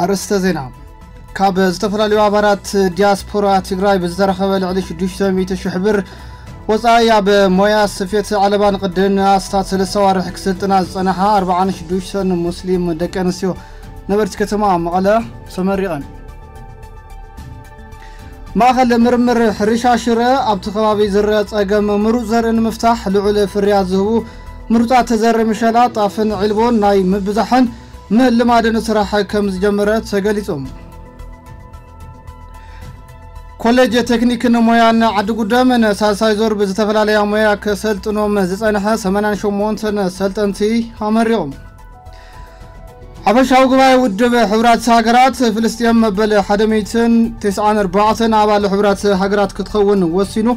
ኣርእስተ ዜና። ካብ ዝተፈላለዩ ኣባላት ዲያስፖራ ትግራይ ብዝተረኸበ ልዕሊ ሽዱሽተ ሚእቲ ሽሕ ብር ወፃኢ ኣብ ሞያ ስፌት ዓለባን ቅድን ኣስታት ሰለስተ ዋርሕ ክስልጥና ዝፀናሓ ኣርባዓን ሽዱሽተን ሙስሊም ደቂ ኣንስትዮ ነበርቲ ከተማ መቐለ ተመሪቐን። ማእኸል ምርምር ሕርሻ ሽረ ኣብቲ ከባቢ ዝረአ ፀገም ምሩፅ ዘርኢ ንምፍታሕ ልዑል ፍርያት ዝህቡ ምሩፃት ዘርኢ ምሸላ፣ ጣፍን ዒልቦን ናይ ምብዛሕን ምልማድን ስራሕ ከም ዝጀመረ ተገሊጹ። ኮሌጅ ቴክኒክን ሞያን ዓዲ ጉደም ንሳልሳይ ዞር ብዝተፈላለያ ሞያ ከሰልጥኖም ዝጸንሐ ሰማንያን ሸሞንተን ሰልጠንቲ ኣመሪቑ። ሓፈሻዊ ጉባኤ ውድብ ሕቡራት ሃገራት፣ ፍልስጤም መበል ሓደ ሚእትን ተስዓን ኣርባዕተን ኣባል ሕቡራት ሃገራት ክትኸውን ወሲኑ።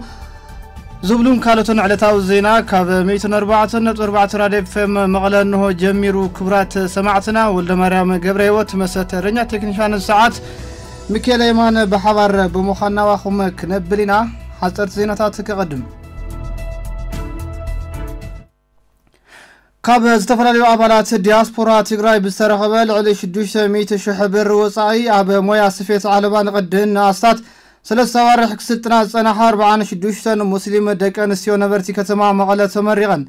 ዝብሉን ካልኦትን ዕለታዊ ዜና ካብ ሚእትን ኣርባዕተን ነጥቢ ኣርባዕተ ራድዮ ኤፍ ኤም መቐለ እንሆ ጀሚሩ። ክቡራት ሰማዕትና፣ ወልደ ማርያም ገብረ ህይወት መሰተረኛ ቴክኒሻን ሰዓት፣ ሚካኤል የማነ ብሓባር ብምዃን ናባኹም ክነብል ኢና። ሓፀርቲ ዜናታት ከቐድም። ካብ ዝተፈላለዩ ኣባላት ዲያስፖራ ትግራይ ብዝተረኸበ ልዕሊ ሽዱሽተ ሚእቲ ሽሕ ብር ወፃኢ ኣብ ሞያ ስፌት ዓለባ ንቕድን ንኣስታት ሰለስተ ኣዋርሕ ክስልጥና ዝፀናሓ ኣርባዓን ሽዱሽተን ሙስሊም ደቂ ኣንስትዮ ነበርቲ ከተማ መቐለ ተመሪቐን።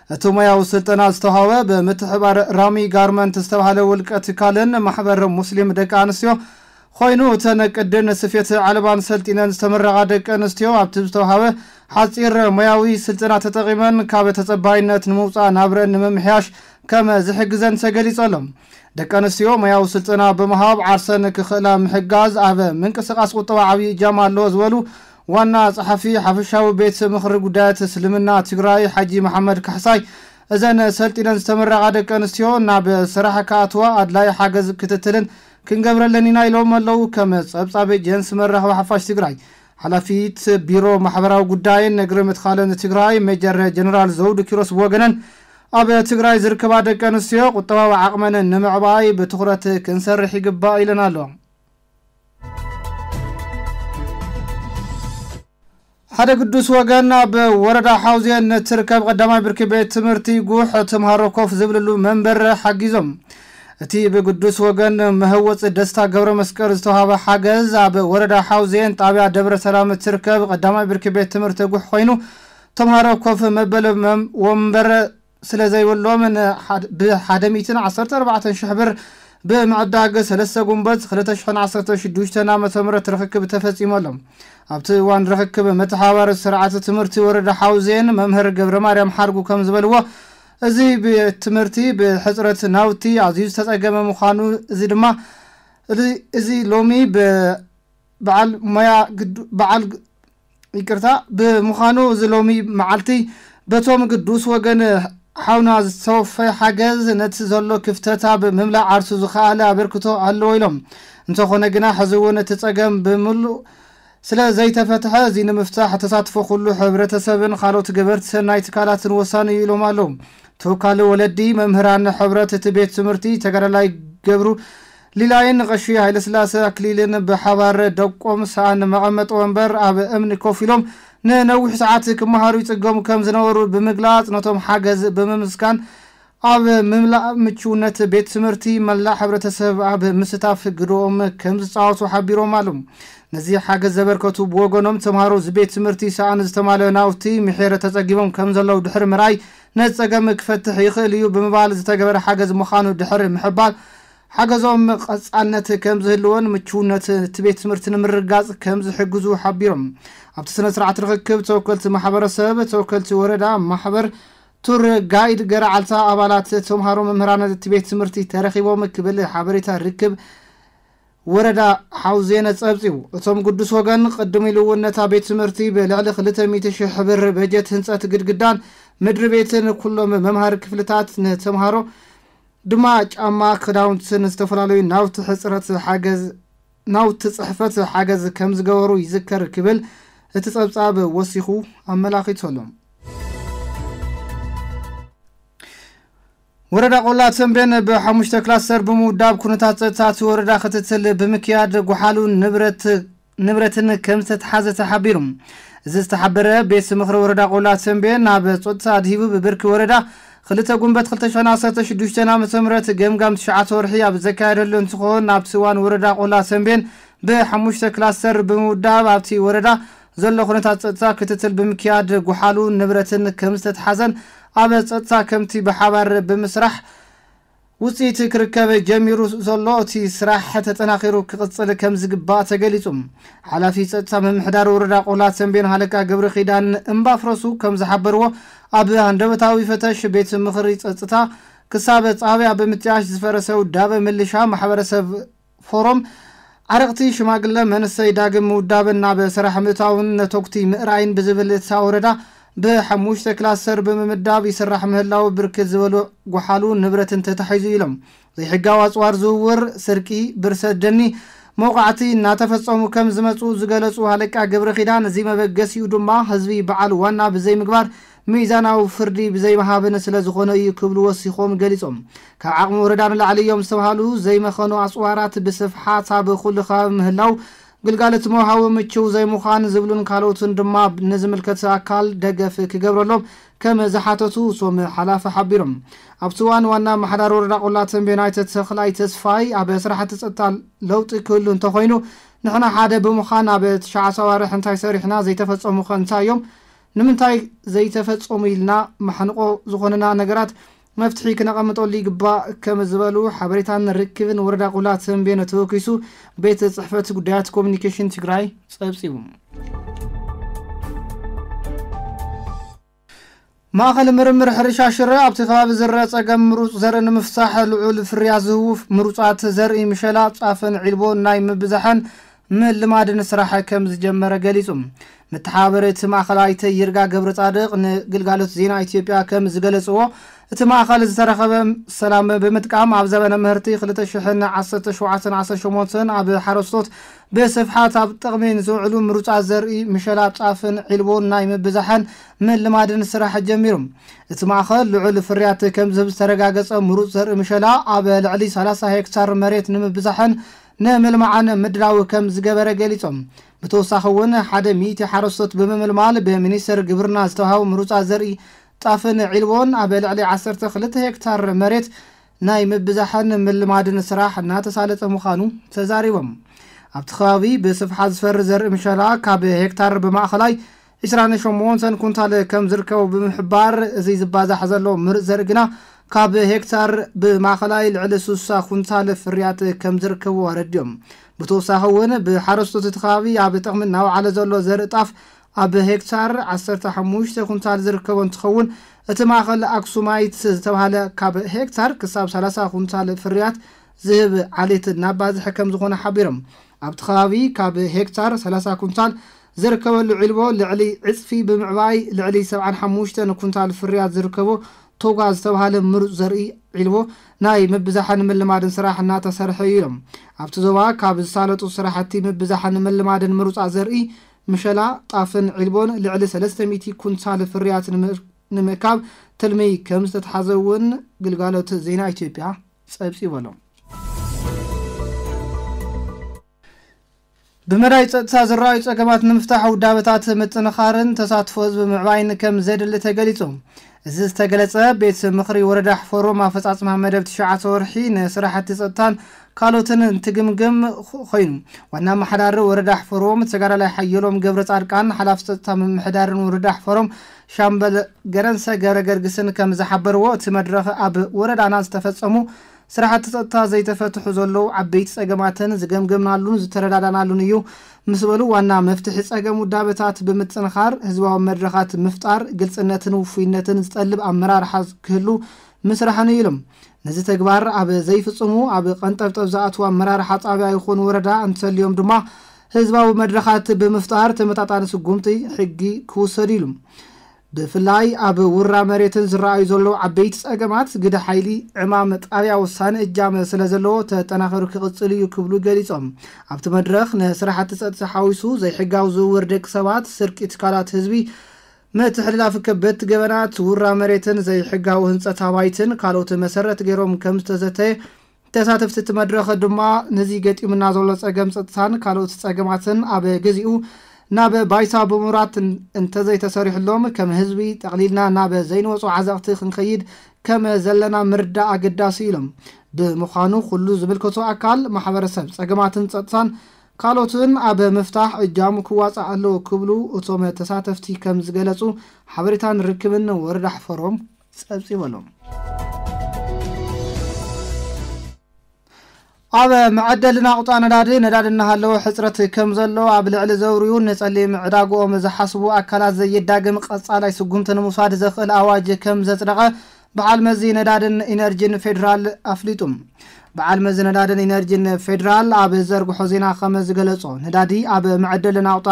እቲ ሞያዊ ስልጠና ዝተዋህበ ብምትሕባር ራሚ ጋርመንት ዝተባህለ ውልቀ ትካልን ማሕበር ሙስሊም ደቂ ኣንስትዮ ኮይኑ፣ እተን ቅድን ስፌት ዓለባን ሰልጢነን ዝተመረቓ ደቂ ኣንስትዮ ኣብቲ ዝተዋህበ ሓፂር ሞያዊ ስልጠና ተጠቒመን ካብ ተፀባይነት ንምውፃእ ናብረን ንምምሕያሽ ከም ዝሕግዘን ተገሊፁ ኣሎ። ደቂ ኣንስትዮ ሞያዊ ስልጠና ብምሃብ ዓርሰን ክኽእላ ምሕጋዝ ኣብ ምንቅስቓስ ቁጠባ ዓብዪ እጃም ኣለዎ ዝበሉ ዋና ጸሓፊ ሓፈሻዊ ቤት ምኽሪ ጉዳያት እስልምና ትግራይ ሓጂ መሓመድ ካሕሳይ፣ እዘን ሰልጢነን ዝተመረቓ ደቂ ኣንስትዮ ናብ ስራሕ ክኣትዋ ኣድላይ ሓገዝ፣ ክትትልን ክንገብረለን ኢና ኢሎም ኣለዉ። ከም ጸብጻብ ኤጀንሲ መራኸቢ ሓፋሽ ትግራይ፣ ሓላፊት ቢሮ ማሕበራዊ ጉዳይን ነግሪ ምትኻልን ትግራይ ሜጀር ጀነራል ዘውዱ ኪሮስ ብወገነን፣ ኣብ ትግራይ ዝርከባ ደቂ ኣንስትዮ ቁጠባዊ ዓቕመን ንምዕባይ ብትኹረት ክንሰርሕ ይግባእ ኢለን ኣለዋ። ሓደ ግዱስ ወገን ኣብ ወረዳ ሓውዜን እትርከብ ቀዳማይ ብርኪ ቤት ትምህርቲ ጉሕ ተምሃሮ ኮፍ ዝብልሉ መንበር ሓጊዞም። እቲ ብግዱስ ወገን መህወፂ ደስታ ገብረ መስቀል ዝተዋሃበ ሓገዝ ኣብ ወረዳ ሓውዜን ጣብያ ደብረ ሰላም እትርከብ ቀዳማይ ብርኪ ቤት ትምህርቲ ጉሕ ኮይኑ፣ ተምሃሮ ኮፍ መበሊ መም-፣ ወንበር ስለ ዘይብሎም ን-፣ ሓደ፣ ብሓደ ሚእትን ዓሰርተ ኣርባዕተን ሽሕ ብር ብምዕዳግ ሰለስተ ጉንበት ክልተ ሽሕን ዓሰርተ ሽዱሽተን ዓመተ ምህረት ርኽክብ ተፈጺሙ ኣሎ። ኣብቲ እዋን ርኽክብ፣ መተሓባበሪ ስርዓተ ትምህርቲ ወረዳ ሓውዜን መምህር ገብረ ማርያም ሓርጉ ከም ዝበልዎ፣ እዚ ቤት ትምህርቲ ብሕጽረት ናውቲ ኣዝዩ ዝተጸገመ ምዃኑ፣ እዚ ድማ፣ እዚ፣ እዚ ሎሚ ብ-፣ በዓል ሞያ ግዱ-፣ በዓል ግ-፣ ይቅርታ፣ ብምዃኑ፣ እዚ ሎሚ መዓልቲ በቶም ግዱስ ወገን ሓውና ዝተወፈየ ሓገዝ ነቲ ዘሎ ክፍተት ኣብ ምምላእ ዓርሱ ዝኸኣለ ኣበርክቶ ኣለዎ ኢሎም። እንተኾነ ግና፣ ሕዚ እውን እቲ ጸገም ብምሉእ ስለ ዘይተፈትሐ፣ እዚ ንምፍታሕ ተሳትፎ ኩሉ ሕብረተሰብን ካልኦት ገበርቲ ሰናይ ትካላትን ወሳኒ እዩ ኢሎም ኣለዉ። ተወካሊ ወለዲ መምህራን ሕብረት እቲ ቤት ትምህርቲ ተጋዳላይ ገብሩ ሊላይን ቀሺ ሃይለስላሴ ኣክሊልን ብሓባር ደቆም ሰኣን መቐመጢ ወንበር ኣብ እምኒ ኮፍ ኢሎም ንነዊሕ ሰዓት ክመሃሩ ይጽገሙ ከም ዝነበሩ ብምግላጽ፣ ነቶም ሓገዝ ብምምስጋን፣ ኣብ ምምላእ ምቹውነት ቤት ትምህርቲ መላእ ሕብረተሰብ ኣብ ምስታፍ ግደኦም ከም ዝጻወቱ ሓቢሮም ኣለዉ። ነዚ ሓገዝ ዘበርከቱ ብወገኖም፣ ተምሃሮ እዚ ቤት ትምህርቲ ሰኣን ዝተማልአ ናውቲ ምሒር ተጸጊቦም ከም ዘለዉ ድሕሪ ምርኣይ፣ ነዚ ጸገም ክፈትሕ ይኽእል እዩ ብምባል፣ ዝተገበረ ሓገዝ ምዃኑ ድሕሪ ምሕባር፣ ሓገዞም ቀጻልነት ከም ዝህልዎን ምቹውነት እቲ ቤት ትምህርቲ ንምርግጋጽ ከም ዝሕግዙ ሓቢሮም። ኣብቲ ስነ ስርዓት ርኽክብ፣ ተወከልቲ ማሕበረሰብ፣ ተወከልቲ ወረዳ፣ ማሕበር ቱር ጋይድ ገረዓልታ፣ ኣባላት፣ ተምሃሮ፣ መምህራን እቲ ቤት ትምህርቲ ተረኺቦም ክብል ሓበሬታ ርክብ ወረዳ ሓውዜን ጸብጺቡ። እቶም ግዱስ ወገን ቅድም ኢሉ እውን ነታ ቤት ትምህርቲ ብልዕሊ ክልተ ሚእቲ ሽሕ ብር በጀት ህንጸት ግድግዳን ምድሪ ቤትን ኩሎም መምሃሪ ክፍልታት ንተምሃሮ ድማ ጫማ፣ ክዳውንትን ዝተፈላለዩ ናውቲ ሕጽረት ሓገዝ፣ ናውቲ ጽሕፈት ሓገዝ ከም ዝገበሩ ይዝከር ክብል እቲ ጸብጻብ ወሲኹ ኣመላኺቱ ኣሎ። ወረዳ ቆላ ተንቤን ብሓሙሽተ ክላስተር ብምውዳብ ኩነታት ጸጥታ እቲ ወረዳ ክትትል ብምክያድ፣ ጎሓሉን ንብረት፣ ንብረትን ከም ዝተትሓዘ ተሓቢሩ። እዚ ዝተሓበረ ቤት ምኽሪ ወረዳ ቆላ ተንቤን፣ ናብ ጸጥታ ኣድሂቡ ብብርኪ ወረዳ ክልተ ጉንበት ክልተ ሽሕን ዓሰርተ ሽዱሽተን ዓመተ ምህረት ገምጋም ትሽዓተ ወርሒ ኣብ ዘካየደሉ እንትኾን፣ ኣብቲ እዋን ወረዳ ቆላ ተንቤን ብሓሙሽተ ክላስተር ብምውዳብ ኣብቲ ወረዳ ዘሎ ኩነታት ጸጥታ ክትትል ብምክያድ፣ ጎሓሉ ንብረትን ከም ዝተትሓዘን ኣብ ጸጥታ ከምቲ ብሓባር ብምስራሕ ውጽኢት ክርከብ ጀሚሩ ዘሎ እቲ ስራሕ ተጠናኺሩ ክቕጽል ከም ዝግባእ ተገሊጹ። ሓላፊ ጸጥታ ምምሕዳር ወረዳ ቆላ ተንቤን ሃለቃ ገብረ ኪዳን እምባፍረሱ ከም ዝሓበርዎ፣ ኣብ ሃንደበታዊ ፈተሽ ቤት ምኽሪ ጸጥታ ክሳብ ጣብያ ብምጥያሽ ዝፈረሰ ውዳበ ምልሻ ማሕበረሰብ ፎሮም ዓረቕቲ ሽማግለ መንሰይ ዳግም ምውዳብን ናብ ስራሕ ምእታውን ነተኩቲ ምእራይን ብዝብል እታ ወረዳ ብሓሙሽተ ክላስተር ብምምዳብ ይስራሕ ምህላው ብርክት ዝበሉ ጎሓሉ ንብረትን ተታሒዙ ኢሎም። ዘይሕጋዊ ኣፅዋር ዝውውር፣ ስርቂ፣ ብርሰት ደኒ መውቃዕቲ እናተፈፀሙ ከም ዝመፁ ዝገለፁ ሃለቃ ገብረ ኪዳን፣ እዚ መበገሲኡ ድማ ህዝቢ በዓል ዋና ብዘይምግባር ሚዛናዊ ፍርዲ ብዘይምሃብን ስለ ዝኾነ እዩ ክብሉ ወሲኾም ገሊፆም። ካብ ዓቕሚ ወረዳ ንላዕሊ እዮም ዝተባሃሉ ዘይመኸኑ ኣፅዋራት ብስፍሓት ኣብ ኩሉ ከባቢ ምህላው፣ ግልጋሎት መውሃዊ ምችው ዘይምዃን ዝብሉን ካልኦትን ድማ ንዝምልከት ኣካል ደገፍ ክገብረሎም ከም ዝሓተቱ እቶም ሓላፊ ሓቢሮም። ኣብቲ እዋን ዋና ኣመሓዳሪ ወረዳ ቆላ ተንቤን ኣይተ ተኽላይ ተስፋይ ኣብ ስራሕቲ ጸጥታ ለውጢ ክህሉ እንተኾይኑ ንሕና ሓደ ብምዃን ኣብ ትሽዓተ ኣዋርሕ እንታይ ሰሪሕና ዘይተፈጸሙ ከ እንታይ እዮም? ንምንታይ ዘይተፈጸሙ ኢልና ማሕንቆ ዝኾነና ነገራት መፍትሒ ክነቐምጠሉ ይግባእ ከም ዝበሉ ሓበሬታን ርክብን ወረዳ ቆላ ተንቤን ተወኪሱ ቤት ጽሕፈት ጉዳያት ኮሚኒኬሽን ትግራይ ጸብጺቡ። ማእኸል ምርምር ሕርሻ ሽረ ኣብቲ ከባቢ ዝረአ ጸገም ምሩፅ ዘርኢ ንምፍታሕ ልዑል ፍርያት ዝህቡ ምሩፃት ዘርኢ ምሸላ፣ ጣፍን ዒልቦን ናይ ምብዛሕን ምልማድን ስራሕ ከም ዝጀመረ ገሊጹ። መተሓባበሪ እቲ ማእኸል ኣይተ ይርጋ ገብረ ጻድቕ ንግልጋሎት ዜና ኢትዮጵያ ከም ዝገለጽዎ፣ እቲ ማእኸል ዝተረኸበ ሰላም ብምጥቃም ኣብ ዘበነ ምህርቲ ክልተ ሽሕን ዓሰርተ ሸውዓተን ዓሰርተ ሸሞንተን ኣብ ሓረስቶት ብስፍሓት ኣብ ጥቕሚ ንዝውዕሉ ምሩፃት ዘርኢ ምሸላ፣ ጣፍን ዒልቦን ናይ ምብዛሕን ምልማድን ስራሕ ጀሚሩ። እቲ ማእኸል ልዑል ፍርያት ከም ዝህብ ዝተረጋገጸ ምሩፅ ዘርኢ ምሸላ ኣብ ልዕሊ ሰላሳ ሄክታር መሬት ንምብዛሕን ንምልማዕን ምድላው ከም ዝገበረ ገሊጾም። ብተወሳኺ እውን ሓደ ሚእቲ ሓረስቶት ብምምልማል ብሚኒስቴር ግብርና ዝተዋህቡ ምሩፃት ዘርኢ ጣፍን ዒልቦን ኣብ ልዕሊ ዓሰርተ ክልተ ሄክታር መሬት ናይ ምብዛሕን ምልማድን ስራሕ እናተሳለጠ ምዃኑ ተዛሪቦም። ኣብቲ ከባቢ ብስፍሓት ዝፈሪ ዘርኢ ምሸላ ካብ ሄክታር ብማእኸላይ ዕስራን ሸሞንተን ኩንታል ከም ዝርከቡ ብምሕባር፣ እዚ ዝባዛሕ ዘሎ ምሩፅ ዘርኢ ግና ካብ ሄክታር ብማእኸላይ ልዕሊ ስሳ ኩንታል ፍርያት ከም ዝርከቡ ኣረዲኦም። ብተወሳኺ እውን ብሓረስቶት እቲ ከባቢ ኣብ ጥቕሚ እናወዓለ ዘሎ ዘርኢ ጣፍ ኣብ ሄክታር ዓሰርተ ሓሙሽተ ኩንታል ዝርከቦ እንትኸውን፣ እቲ ማእኸል ኣክሱማይት ዝተባህለ ካብ ሄክታር ክሳብ ሰላሳ ኩንታል ፍርያት ዝህብ ዓሌት እናባዝሐ ከም ዝኾነ ሓቢሮም። ኣብቲ ከባቢ ካብ ሄክታር ሰላሳ ኩንታል ዝርከበሉ ዒልቦ ልዕሊ ዕፅፊ ብምዕባይ ልዕሊ ሰብዓን ሓሙሽተን ኩንታል ፍርያት ዝርከቦ ቶጋ ዝተባህለ ምሩፅ ዘርኢ ዒልቦ ናይ ምብዛሕን ምልማድን ስራሕ እናተሰርሐ እዩ ኢሎም። ኣብቲ ዞባ ካብ ዝሳለጡ ስራሕቲ ምብዛሕን ምልማድን ምሩፃት ዘርኢ ምሸላ፣ ጣፍን ዒልቦን ልዕሊ ሰለስተ ሚእቲ ኩንታል ፍርያት ንምር-፣ ንምእካብ ትልሚ ከም ዝተትሓዘ እውን ግልጋሎት ዜና ኢትዮጵያ ጸብጺቡ ኣሎ። ብመዳይ ጸጥታ ዝረኣዩ ጸገማት ንምፍታሕ ውዳበታት ምጥንኻርን ተሳትፎ ህዝቢ ምዕባይን ከም ዘድሊ ተገሊጹ። እዚ ዝተገለጸ ቤት ምኽሪ ወረዳ ሕፈሮም ኣፈጻጽማ መደብ ትሽዓተ ወርሒ ንስራሕቲ ጸጥታን ካልኦትን እንትግምግም ኾ-፣ ኮይኑ። ዋና ኣመሓዳሪ ወረዳ ሕፈሮም ተጋዳላይ ሓየሎም ገብረ ጻድቃን፣ ሓላፊ ጸጥታ ምምሕዳርን ወረዳ ሕፈሮም ሻምበል ገረንሰ ገብረ ገርግስን ከም ዝሓበርዎ፣ እቲ መድረኽ ኣብ ወረዳና ዝተፈጸሙ ስራሕቲ ጸጥታ ዘይተፈትሑ ዘለዉ ዓበይቲ ጸገማትን ዝገምገምናሉን ዝተረዳዳናሉን እዩ ምስ በሉ፣ ዋና መፍትሒ ጸገም ውዳበታት ብምጥንኻር ህዝባዊ መድረኻት ምፍጣር፣ ግልጽነትን ውፉይነትን ዝጠልብ ኣመራርሓ ክህሉ ምስራሕን እዩ ኢሎም። ነዚ ተግባር ኣብ ዘይፍጽሙ፣ ኣብ ቀንጠብጠብ ዝኣትዉ ኣመራርሓ ጣብያ ይኹን ወረዳ እንተልዮም ድማ ህዝባዊ መድረኻት ብምፍጣር ተመጣጣኒ ስጉምቲ ሕጊ ክውሰድ ኢሉ። ብፍላይ ኣብ ውራ መሬትን ዝረኣዩ ዘለዉ ዓበይቲ ጸገማት ግደ ሓይሊ ዕማም ጣብያ ወሳኒ እጃም ስለ ዘለዎ ተጠናኺሩ ክቕጽል እዩ ክብሉ ገሊጾም። ኣብቲ መድረኽ ንስራሕቲ ጸጥታ ሓዊሱ ዘይሕጋዊ ዝውውር ደቂ ሰባት፣ ስርቂ ትካላት ህዝቢ፣ ምትሕልላፍ ከበድቲ ገበናት፣ ውራ መሬትን ዘይሕጋዊ ህንጸት ኣባይትን ካልኦት መሰረት ገይሮም ከም ዝተዘተየ ተሳተፍቲ እቲ መድረኽ ድማ ነዚ ገጢሙና ዘሎ ጸገም ጸጥታን ካልኦት ጸገማትን ኣብ ግዚኡ ናብ ባይታ ብምውራድ እን-፣ እንተዘይተሰሪሕሎም ከም ህዝቢ ጠቕሊልና ናብ ዘይንወጾ ዓዘቕቲ ክንኸይድ ከም ዘለና ምርዳእ ኣገዳሲ ኢሎም። ብምዃኑ ኩሉ ዝምልከቶ ኣካል ማሕበረሰብ ጸገማትን ጸጥታን ካልኦትን ኣብ ምፍታሕ እጃሙ ክዋጻእ ኣለዎ ክብሉ እቶም ተሳተፍቲ ከም ዝገለጹ ሓበሬታን ርክብን ወረዳ ሕፈሮም ጸብጺበሎም። ኣብ መዐደሊ ናቑጣ ነዳዲ ነዳዲ እናሃለወ ሕጽረት ከም ዘሎ ኣብ ልዕሊ ዘውርዩ ንጸሊም ዕዳግኦም ዝሓስቡ ኣካላት ዘየዳግም ቀጻላይ ስጉምቲ ንምውሳድ ዘኽእል ኣዋጅ ከም ዘጽደቐ በዓል መዚ ነዳድን ኢነርጂን ፌዴራል ኣፍሊጡ። በዓል መዚ ነዳድን ኢነርጂን ፌዴራል ኣብ ዘርግሖ ዜና ከም ዝገለጾ ነዳዲ ኣብ መዐደሊ ናቑጣ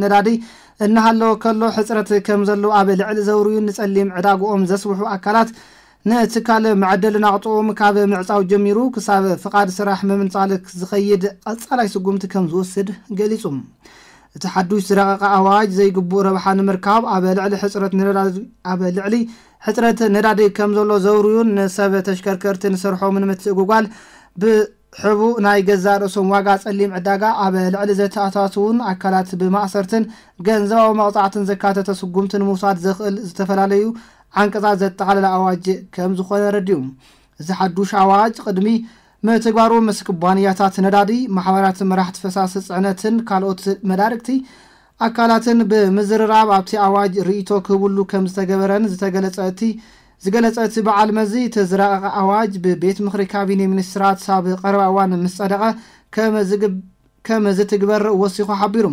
ነዳዲ እናሃለወ ከሎ ሕጽረት ከም ዘሎ ኣብ ልዕሊ ዘውርዩ ንጸሊም ዕዳግኦም ዘስብሑ ኣካላት ንትካል መዐደሊ ናቑጥኦም ካብ ምዕጻው ጀሚሩ ክሳብ ፍቓድ ስራሕ ምምንጻል ዝኸይድ ቀጻላይ ስጉምቲ ከም ዝወስድ ገሊጹ። እቲ ሓዱሽ ዝረቐቐ ኣዋጅ ዘይግቡእ ረብሓ ንምርካብ ኣብ ልዕሊ ሕጽረት ነዳዲ፣ ኣብ ልዕሊ ሕጽረት ነዳዲ ከም ዘሎ ዘውርዩን ንሰብ ተሽከርከርትን ስርሖምን ምትእጉጓል ብ-፣ ሕቡእ ናይ ገዛእ ርእሶም ዋጋ ጸሊም ዕዳጋ ኣብ ልዕሊ ዘተኣታትዉን ኣካላት ብማእሰርትን ገንዘባዊ መቕጻዕትን ዘካተተ ስጉምቲ ንምውሳድ ዘኽእል ዝተፈላለዩ ዓንቀጻት ዘጠቓለለ ኣዋጅ ከም ዝኾነ ረዲኡ። እዚ ሓዱሽ ኣዋጅ ቅድሚ ምትግባሩ ምስ ኩባንያታት ነዳዲ፣ ማሕበራት መራሕቲ ፈሳሲ ጽዕነትን ካልኦት መዳርግቲ ኣካላትን ብምዝርራብ ኣብቲ ኣዋጅ ርእይቶ ክህብሉ ከም ዝተገበረን ዝተገለጸ እቲ ዝገለጸ እቲ በዓል መዚ፣ እቲ ዝረቐቐ ኣዋጅ ብቤት ምኽሪ ካቢኔ ሚኒስትራት ኣብ ቀረባ እዋን ምስ ጸደቐ ከም ዝግብ-፣ ከም ዝትግበር ወሲኹ ሓቢሩ።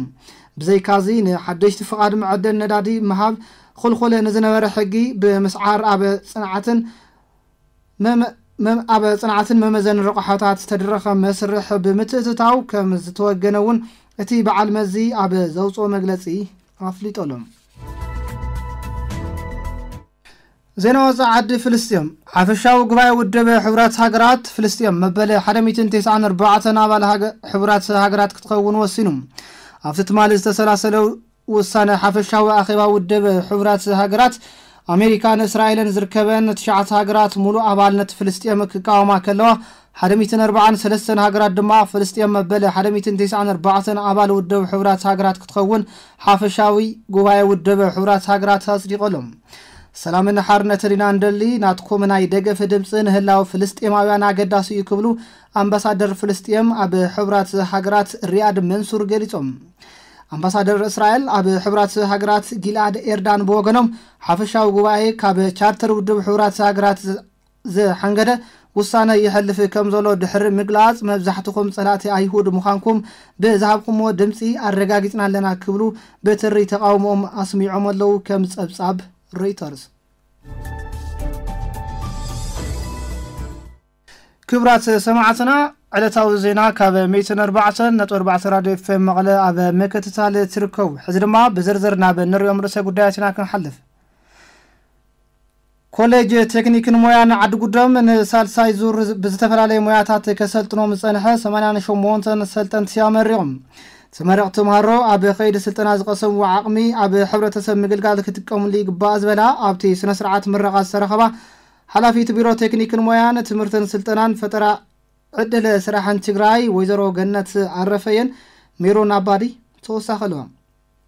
ብዘይካዚ ንሓደሽቲ ፍቓድ መዐደሊ ነዳዲ ምሃብ ክልኩል ንዝነበረ ሕጊ ብምስዓር ኣብ ጽንዓትን መመ-፣ መም-፣ ኣብ ጽንዓትን መመዘን ረቑሓታት ዝተደረኸ መስርሕ ብምትእትታው ከም ዝተወገነ እውን እቲ በዓል መዚ ኣብ ዘውፅኦ መግለፂ ኣፍሊጦሎም። ዜና ወፃኢ ዓዲ። ፍልስጤም። ሓፈሻዊ ጉባኤ ውድብ ሕቡራት ሃገራት ፍልስጤም መበል ሓደ ሚእትን ተስዓን ኣርባዕተን ኣባል ሃገ-፣ ሕቡራት ሃገራት ክትኸውን ወሲኑ። ኣብቲ ትማሊ ዝተሰላሰለ ውሳነ ሓፈሻዊ ኣኼባ ውድብ ሕቡራት ሃገራት፣ ኣሜሪካን እስራኤልን ዝርከበን ትሽዓተ ሃገራት ሙሉእ ኣባልነት ፍልስጤም ክቃወማ ከለዋ፣ ሓደ ሚእትን ኣርባዓን ሰለስተን ሃገራት ድማ ፍልስጤም መበል ሓደ ሚእትን ተስዓን ኣርባዕተን ኣባል ውድብ ሕቡራት ሃገራት ክትኸውን ሓፈሻዊ ጉባኤ ውድብ ሕቡራት ሃገራት ኣጽዲቐሎም። ሰላምን ሓርነትን ኢና እንደሊ፣ ናትኩም ናይ ደገፍ ድምፂ ንህላው ፍልስጤማውያን ኣገዳሲ እዩ ክብሉ ኣምባሳደር ፍልስጤም ኣብ ሕቡራት ሃገራት ሪያድ መንሱር ገሊጾም። ኣምባሳደር እስራኤል ኣብ ሕቡራት ሃገራት ጊልኣድ ኤርዳን ብወገኖም፣ ሓፈሻዊ ጉባኤ ካብ ቻርተር ውድብ ሕቡራት ሃገራት ዝ-፣ ዝሓንገደ ውሳነ ይሐልፍ ከም ዘሎ ድሕሪ ምግላጽ፣ መብዛሕትኹም ጸላእቲ ኣይሁድ ምዃንኩም ብዝሃብኩምዎ ድምጺ ኣረጋጊጽና ኣለና ክብሉ ብትሪ ተቓውሞኦም ኣስሚዖም ኣለዉ፣ ከም ጸብጻብ ሮይተርስ። ክቡራት ሰማዕትና፣ ዕለታዊ ዜና ካብ ሚእትን ኣርባዕተን ነጥቢ ኣርባዕተ ራድዮ ኤፍ ኤም መቐለ ኣብ ምክትታል ትርከቡ። ሕዚ ድማ ብዝርዝር ናብ እንሪኦም ርእሰ ጉዳያት ኢና ክንሓልፍ። ኮሌጅ ቴክኒክን ሞያን ዓዲ ጉዶም ንሳልሳይ ዙር ብዝተፈላለየ ሞያታት ከሰልጥኖም ዝጸንሐ ሰማንያን ሸሞንተን ሰልጠንቲ ኣመሪቖም። ተመረቕቲ ተምሃሮ ኣብ ከይዲ ስልጠና ዝቐሰምዎ ዓቕሚ ኣብ ሕብረተሰብ ምግልጋል ክጥቀሙሉ ይግባእ ዝበላ ኣብቲ ስነ ስርዓት ምረቓ ዝተረኸባ ሓላፊት ቢሮ ቴክኒክን ሞያን ትምህርትን ስልጠናን ፈጠራ ዕድል ስራሕን ትግራይ ወይዘሮ ገነት ኣረፈየን ሜሮን ኣባዲ ተወሳኺ ኣለዋ።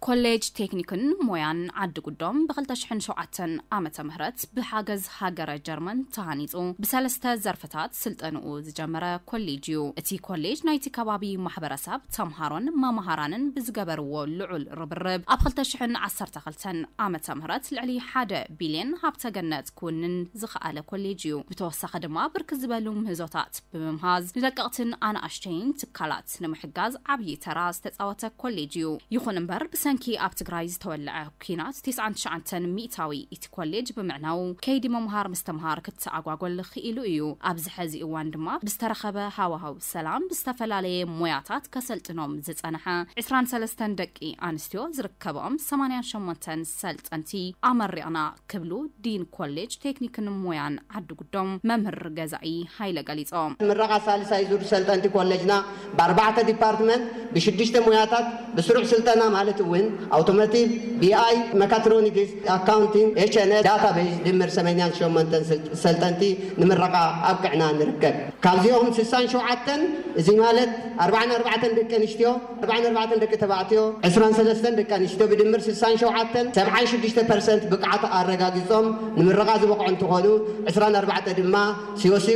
ኮሌጅ ቴክኒክን ሞያን ዓዲ ጉዶም ብ ክልተ ሽሕን ሸውዓተን ዓመተ ምህረት ብሓገዝ ሃገረ ጀርመን ተሃኒጹ ብሰለስተ ዘርፍታት ስልጠንኡ ዝጀመረ ኮሌጅ እዩ። እቲ ኮሌጅ ናይቲ ከባቢ ማሕበረሰብ፣ ተምሃሮን መምሃራንን ብዝገበርዎ ልዑል ርብርብ ኣብ ክልተ ሽሕን ዓሰርተ ክልተን ዓመተ ምህረት ልዕሊ ሓደ ቢልዮን ሃብተ ገነት ክውንን ዝኸኣለ ኮሌጅ እዩ። ብተወሳኺ ድማ ብርክት ዝበሉ ምህዞታት ብምምሃዝ ንደቀቕትን ኣናእሽተይን ትካላት ንምሕጋዝ ዓብዪ ተራ ዝተፃወተ ኮሌጅ እዩ። ይኹን እምበር ብሰንኪ ኣብ ትግራይ ዝተወለዐ ኲናት ተስዓን ትሽዓተን ሚእታዊ እቲ ኮሌጅ ብምዕናው ከይዲ ምምሃር ምስትምሃር ክተኣጓጎል ክኢሉ እዩ። ኣብዚ ሐዚ እዋን ድማ ብዝተረኸበ ሃዋህው ሰላም ብዝተፈላለየ ሞያታት ከሰልጥኖም ዝፀንሐ ዕስራን ሰለስተን ደቂ ኣንስትዮ ዝርከብኦም ሰማንያን ሸሞንተን ሰልጠንቲ ኣመሪቕና ክብሉ ዲን ኮሌጅ ቴክኒክን ሞያን ዓዲ ጉዶም መምህር ገዛኢ ሃይለ ገሊጾም። ምረቓ ሳልሳይ ዙር ሰልጠንቲ ኮሌጅና ብኣርባዕተ ዲፓርትመንት ብሽዱሽተ ሞያታት ብስሩዕ ስልጠና ማለት እውን ኣውቶሞቲቭ፣ ቢኣይ፣ መካትሮኒክስ፣ ኣካውንቲንግ፣ ኤችኤንኤል፣ ዳታቤዝ ድምር ሰማንያን ሸሞንተን ሰልጠንቲ ንምረቓ ኣብቅዕና ንርከብ። ካብዚኦም ስሳን ሸውዓተን፣ እዚ ማለት ኣርባዓን ኣርባዕተን ደቂ ኣንስትዮ፣ ኣርባዓን ኣርባዕተን ደቂ ተባዕትዮ፣ ዕስራን ሰለስተን ደቂ ኣንስትዮ፣ ብድምር ስሳን ሸውዓተን፣ ሰብዓን ሽዱሽተ ፐርሰንት ብቕዓት ኣረጋጊጾም ንምረቓ ዝበቕዑ እንትኾኑ፣ ዕስራን ኣርባዕተ ድማ ሲኦሲ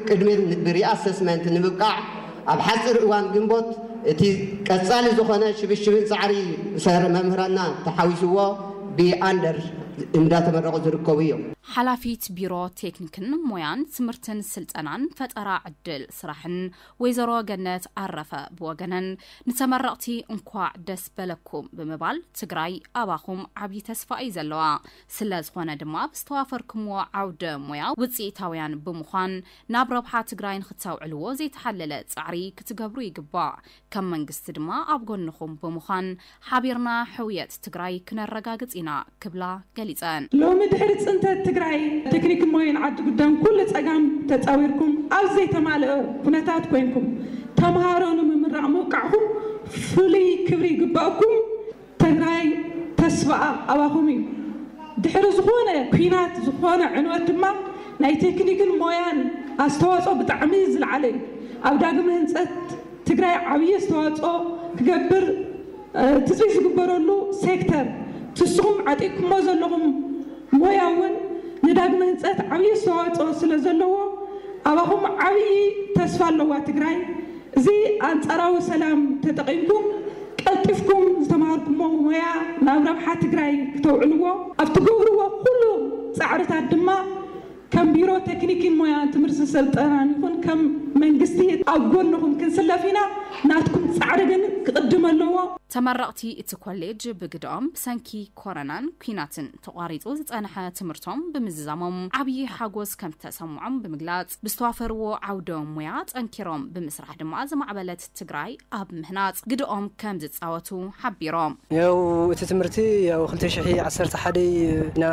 ቅድሚ ሪኣሰስመንት ንምብቃዕ ኣብ ሓፂር እዋን ግንቦት እቲ ቀፃሊ ዝኾነ ሽብሽብን ፃዕሪ ሰር መምህራንና ተሓዊስዎ ብኣንደር እንዳተመረቑ ዝርከቡ እዮም። ሓላፊት ቢሮ ቴክኒክን ሞያን ትምህርትን ስልጠናን ፈጠራ ዕድል ስራሕን ወይዘሮ ገነት ኣረፈ ብወገነን፣ ንተመረቕቲ እንኳዕ ደስ በለኩም ብምባል፣ ትግራይ ኣባኹም ዓብዪ ተስፋ እዩ ዘለዋ። ስለ ዝኾነ ድማ ብዝተዋፈርኩምዎ ዓውደ ሞያ ውፅኢታውያን ብምዃን፣ ናብ ረብሓ ትግራይ ንክተውዕልዎ ዘይተሓለለ ፃዕሪ ክትገብሩ ይግባእ። ከም መንግስቲ ድማ ኣብ ጎንኹም ብምዃን ሓቢርና ሕውየት ትግራይ ክነረጋግፅ ኢና ክብላ ገሊፀን። ሎሚ ድሕሪ ፅንተት ትግራይ ቴክኒክን ሞያን ዓዲ ጉዳን ኩሉ ፀጋም ተፃዊርኩም ኣብ ዘይተማልአ ኩነታት ኮይንኩም ተምሃሮ ንምምራቕ ምብቃዕኹም ፍሉይ ክብሪ ይግበኣኩም። ትግራይ ተስፋኣ ኣባኹም እዩ። ድሕሪ ዝኾነ ኲናት፣ ዝኾነ ዕንወት ድማ ናይ ቴክኒክን ሞያን ኣስተዋፅኦ ብጣዕሚ ዝለዓለ እዩ። ኣብ ዳግመ ህንፀት ትግራይ ዓብዪ ኣስተዋፅኦ ክገብር፣ እ፣ ትፅቢት ዝግበረሉ ሴክተር፣ ንስኹም ዓጢቕኩሞ ዘለኹም ሞያ እውን ንዳግመ ህንፀት ዓብዪ ኣስተዋፅኦ ስለ ዘለዎ ኣባኹም ዓብዪ ተስፋ ኣለዋ ትግራይ። እዚ ኣንጻራዊ ሰላም ተጠቒምኩም ቀልጢፍኩም ዝተማሃርኩሞ ሞያ ናብ ረብሓ ትግራይ ክተውዕልዎ ኣብ ትገብርዎ ኩሉ ጻዕርታት ድማ ከም ቢሮ ቴክኒክን ሞያን ትምህርቲ ስልጠናን ይኹን ከም መንግስቲ ኣብ ጎንኹም ክንስለፍ ኢና። ናትኩም ጻዕሪ ግን ክቕድም ኣለዎ። ተመረቕቲ እቲ ኮሌጅ ብግድኦም ብሰንኪ ኮረናን ኲናትን ተቋሪጹ ዝጸንሐ ትምህርቶም ብምዝዛሞም ዓብዪ ሓጎስ ከም ዝተሰምዖም ብምግላጽ፣ ብዝተዋፈርዎ ዓውደ ሞያ ጠንኪሮም ብምስራሕ ድማ ዝማዕበለት ትግራይ ኣብ ምህናጽ ግድኦም ከም ዝጻወቱ ሓቢሮም። ያው እቲ ትምህርቲ ያው ክልተ ሽሕ ዓሰርተ ሓደ ኢና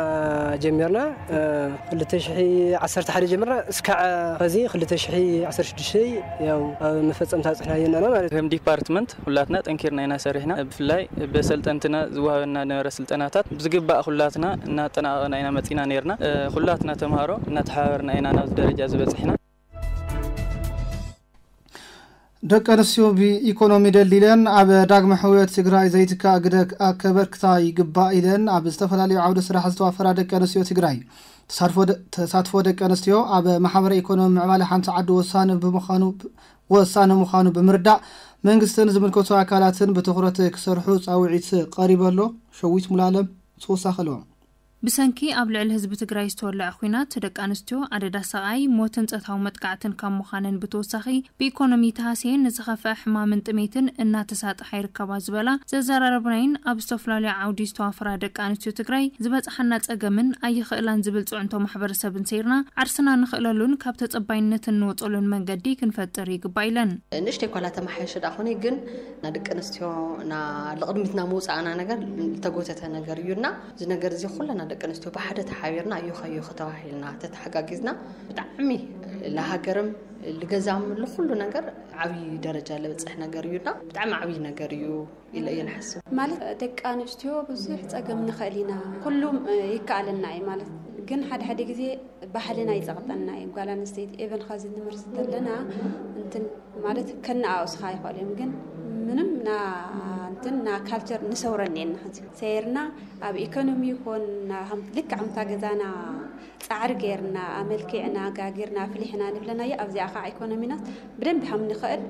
ጀሚርና። እ፣ ክልተ ሽሕ ዓሰርተ ሓደ ጀሚርና እስካዕ ኸዚ ክልተ ሽሕ ዓሰርተ ሽዱሽተ ያው ኣብ መፈጸምታ ጽሕና ኣለና ማለት እዩ። ከም ዲፓርትመንት ኩላትና ጠንኪርና ኢና ሰሪሕና። ብፍላይ በሰልጠንትና ዝወሃበና ነበረ ስልጠናታት ብዝግባእ ኩላትና እናጠናቐቕና ኢና መጺና ነይርና። እ፣ ኩላትና ተምሃሮ እናተሓባበርና ኢና ናብዚ ደረጃ ዝበጽሕና። ደቂ ኣንስትዮ ብኢኮኖሚ ደልዲለን ኣብ ዳግመ ሕውየት ትግራይ ዘይትካእ ግደ ከበርክታ ይግባእ ኢለን ኣብ ዝተፈላለዩ ዓውደ ስራሕ ዝተዋፈራ ደቂ ኣንስትዮ ትግራይ ተሳትፎ ደ-፣ ተሳትፎ ደቂ ኣንስትዮ ኣብ ማሕበረ ኢኮኖሚ ምዕባለ ሓንቲ ዓዲ ወሳኒ ብምዃኑ፣ ወሳኒ ምዃኑ ብምርዳእ መንግስትን ዝምልከቱ ኣካላትን ብትኹረት ክሰርሑ ጻውዒት ቀሪቡ ኣሎ። ሸዊት ሙሉኣለም ተወሳኺ ኣለዎም። ብሰንኪ ኣብ ልዕሊ ህዝቢ ትግራይ ዝተወለዐ ኲናት ደቂ ኣንስትዮ ኣደዳ ሰቓይ ሞትን ጾታዊ መጥቃዕትን ካብ ምዃነን ብተወሳኺ ብኢኮኖሚ ተሃስየን ንዝኸፍአ ሕማምን ጥሜትን እናተሳጥሓ ይርከባ ዝበላ ዘዘራረብናይን ኣብ ዝተፈላለዩ ዓውዲ ዝተዋፈራ ደቂ ኣንስትዮ ትግራይ ዝበፅሓና ፀገምን ኣይኽእላን ዝብል ፅዕንቶ ማሕበረሰብን ሰይርና ዓርስና ንኽእለሉን ካብ ተፀባይነት እንወፀሉን መንገዲ ክንፈጥር ይግባእ ኢለን። ንእሽተይ ኳላ ተመሓየሸ ደኣ ኾነ ግን ና ደቂ ኣንስትዮ ና ልቕድሚትና ምውፃእና ነገር ዝተጎተተ ነገር እዩና። እዚ ነገር እዚ ኩለና ደቂ ኣንስትዮ ብሓደ ተሓቢርና ኣዮ ኸዮ ከተባሂልና ተተሓጋጊዝና ብጣዕሚ ለሃገርም ልገዛም ልኩሉ ነገር ዓብዪ ደረጃ ለብፅሕ ነገር እዩና ብጣዕሚ ዓብዪ ነገር እዩ ኢለ እየ ንሓስብ። ማለት ደቂ ኣንስትዮ ብዙሕ ፀገም ንኽእል ኢና፣ ኩሉም ይከኣለና እዩ ማለት ግን ሓደ ሓደ ግዜ ባህልና ይፀቕጠና እዩ። ጓል ኣንስተይቲ ኤቨን ኸዚ ንምህር ዝተለና እንትን ማለት ከነኣውስኻ ይኽእል እዮም ግን ምንም ና እንትን ና ካልቸር ንሰውረን የና ኸዚ ሰይርና ኣብ ኢኮኖሚ ይኹን ና ሃም-፣ ልክዕ ከምታ ገዛና ፃዕሪ ገይርና ኣመልኪዕና ጋጊርና ኣፍሊሕና ንብለናዮ ኣብዚኣ ከዓ ኢኮኖሚናስ ብደንብ ሃም ንኽእል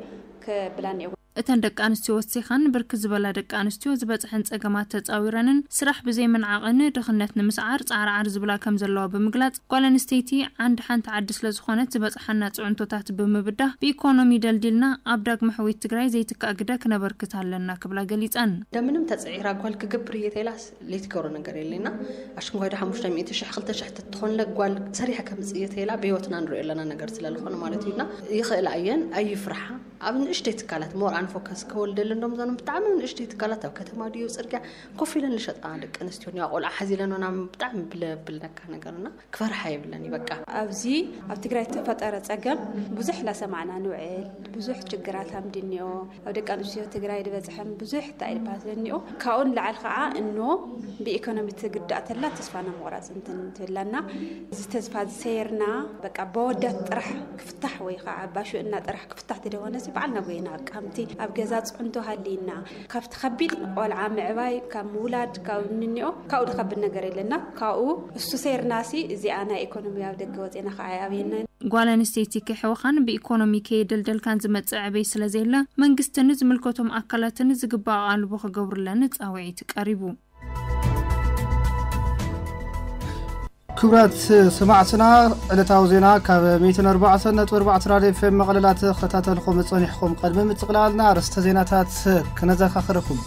ክብላን እየ። እተን ደቂ ኣንስትዮ ወሲኸን ብርክት ዝበላ ደቂ ኣንስትዮ ዝበፅሐን ፀገማት ተፃዊረንን ስራሕ ብዘይምንዓቕን ድኽነት ንምስዓር ፃዕርዓር ዝብላ ከም ዘለዋ ብምግላፅ ጓል ኣንስተይቲ ዓንዲ ሓንቲ ዓዲ ስለዝኾነት ዝበፅሓና ፅዕንቶታት ብምብዳህ ብኢኮኖሚ ደልዲልና ኣብ ዳግመ ሕውየት ትግራይ ዘይትካእ ግደ ክነበርክት ኣለና ክብላ ገሊፀን። እንደምንም ተፅዒራ ጓል ክገብር እየ ተይላስ ዘይትገብሮ ነገር የለና። ኣሽንኳይ ዶ ሓሙሽተ ሚእቲ ሽሕ ክልተ ሽሕ ተትኾንለ ጓል ሰሪሐ ከምፅእ እየ ተይላ ብህይወትና ንሪኦ ኣለና ነገር ስለዝኾነ ማለት እዩና ይኽእላ እየን ኣይፍርሓ። ኣብ ንእሽተይ ትካላት ሞር ፎከስ ከወልደለን ዶም ዘኖም ብጣዕሚ ንእሽተይ ትካላት ኣብ ከተማ ድዩ ጽርግያ ኮፍ ኢለን ዝሸጣ ደቂ ኣንስትዮ እኒዋ ቆልዓ ሓዚለን ና ብጣዕሚ ብለብልነካ ነገርና ክፈርሓ የብለን እዩ በቃ። ኣብዚ ኣብ ትግራይ ዝተፈጠረ ጸገም ብዙሕ እናሰማዕና ንውዕል። ብዙሕ ችግራት ኣምድንዮ ኣብ ደቂ ኣንስትዮ ትግራይ ዝበፅሐም ብዙሕ እንታይ ድባት ዘኒኦ ካብኡ ንላዕሊ ከዓ እኖ ብኢኮኖሚ ትግዳእ ተላ ተስፋና ምቑራፅ እንትን ትብላና። እዚ ተስፋ ዝሰየርና በቃ በወዳት ጥራሕ ክፍታሕ ወይ ከዓ ባሹእና ጥራሕ ክፍታሕ ተደወነሲ በዓልና ጎይና ከምቲ ኣብ ገዛ ፅዕንቶ ሃሊና ካብቲ ከቢድ ቆልዓ ምዕባይ ካብ ምውላድ ካብ እንኒኦ ካብኡ ዝከብድ ነገር የለና። ካብኡ እሱ ሰይርናሲ እዚኣ ናይ ኢኮኖሚ ኣብ ደገ ወፅና ከዓ ኣብየና። ጓል ኣንስተይቲ ክሕወኻን ብኢኮኖሚ ከየደልደልካን ዝመጽእ ዕበይ ስለ ዘየለ መንግስትን ዝምልከቶም ኣካላትን ዝግባእ ኣቓልቦ ክገብሩለን ጻውዒት ቀሪቡ። ክቡራት ሰማዕትና፣ ዕለታዊ ዜና ካብ ሚእትን ኣርባዕተን ነጥቢ ኣርባዕተ ራድዮ ኤፍ ኤም መቐለላ ተኸታተልኩም ጸኒሕኩም። ቅድሚ ምጥቕላልና ኣርእስተ ዜናታት ክነዘኻኽረኩም።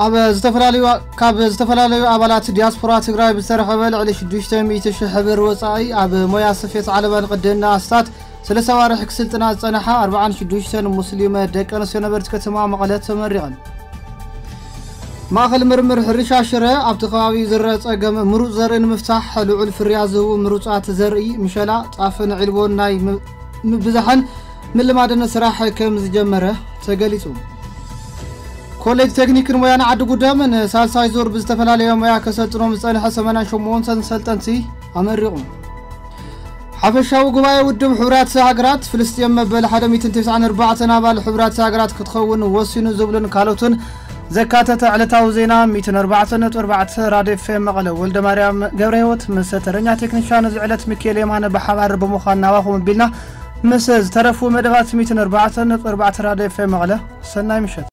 ኣብ ዝተፈላለዩ ካብ ዝተፈላለዩ ኣባላት ዲያስፖራ ትግራይ ብዝተረኸበ ልዕሊ ሽዱሽተ ሚእቲ ሽሕ ብር ወፃኢ ኣብ ሞያ ስፌት ዓለባን ቅድና ኣስታት ሰለስተ ኣዋርሕ ክስልጥና ዝፀንሓ ኣርባዓን ሽዱሽተን ሙስሊም ደቂ ኣንስትዮ ነበርቲ ከተማ መቐለ ተመሪቐን። ማእኸል ምርምር ሕርሻ ሽረ ኣብቲ ከባቢ ዝረአ ፀገም ምሩፅ ዘርኢ ንምፍታሕ ልዑል ፍርያት ዝህቡ ምሩፃት ዘርኢ ምሸላ፣ ጣፍን ዒልቦን ናይ ም- ምብዛሕን ምልማድን ስራሕ ከም ዝጀመረ ተገሊጹ። ኮሌጅ ቴክኒክን ሞያን ዓዲ ጉደም ንሳልሳይ ዙር ብዝተፈላለየ ሞያ ከሰልጥኖም ዝጸንሐ ሰማንያን ሸሞንተን ሰልጠንቲ ኣመሪቑ። ሓፈሻዊ ጉባኤ ውድብ ሕቡራት ሃገራት፣ ፍልስጤም መበል ሓደ ሚእትን ተስዓን ኣርባዕተን ኣባል ሕቡራት ሃገራት ክትኸውን ወሲኑ ዝብሉን ካልኦትን ዘካተተ ዕለታዊ ዜና ሚእትን ኣርባዕተን ነጥቢ ኣርባዕተ ራድዮ ኤፍ ኤም መቐለ። ወልደ ማርያም ገብረ ህይወት ምስ ተረኛ ቴክኒሻን እዚ ዕለት ሚካኤል የማነ ብሓባር ብምዃን ናባኹም ኣቢልና ምስ ዝተረፉ መደባት ሚእትን ኣርባዕተን ነጥቢ ኣርባዕተ ራድዮ ኤፍ ኤም መቐለ ሰናይ ምሸት።